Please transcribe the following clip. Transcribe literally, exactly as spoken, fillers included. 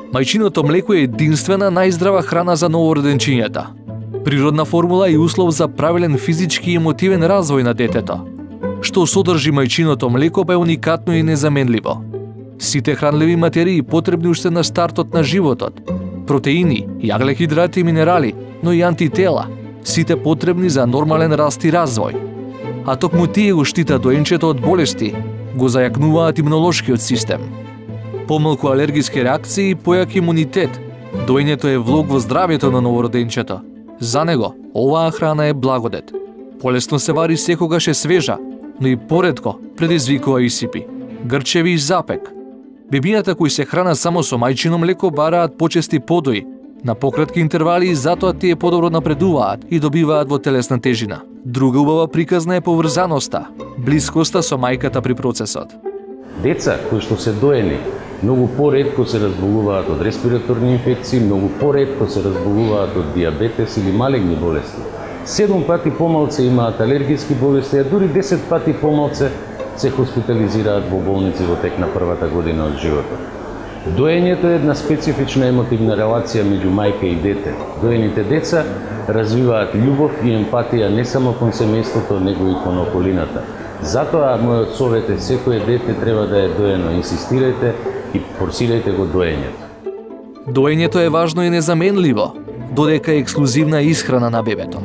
Мајчиното млеко е единствена најздрава храна за новороденчињата. Природна формула и услов за правилен физички и емотивен развој на детето. Што содржи мајчиното млеко па е уникатно и незаменливо. Сите хранливи материи потребни уште на стартот на животот, протеини, јаглехидрати и минерали, но и антитела, сите потребни за нормален раст и развој. А токму тие го штитат доенчето од болести, го зајакнуваат имунолошкиот систем. Помалку алергиски реакции и појак имунитет. Доењето е влог во здравјето на новороденчето. За него, оваа храна е благодет. Полесно се вари секогаш е свежа, но и поретко предизвикува исипи, грчеви и запек. Бебињата кои се хранат само со мајчино млеко бараат почести подои, на пократки интервали и затоа тие подобро напредуваат и добиваат во телесна тежина. Друга убава приказна е поврзаноста, блискоста со мајката при процесот. Деца кои што се доени многу поретко се разболуваат од респираторни инфекции, многу поретко се разболуваат од диабетес или малегни болести. седум пати помалце имаат алергиски болести, а дури десет пати помалце се хоспитализираат во болници во тек на првата година од животот. Доењето е една специфична емотивна релација меѓу мајка и дете. Доените деца развиваат љубов и емпатија не само кон семејството, него и кон околината. Затоа мојот совет е секое дете треба да е доено. Инсистирајте и форсирајте го доењето. Доењето е важно и незаменливо, додека е ексклузивна исхрана на бебето.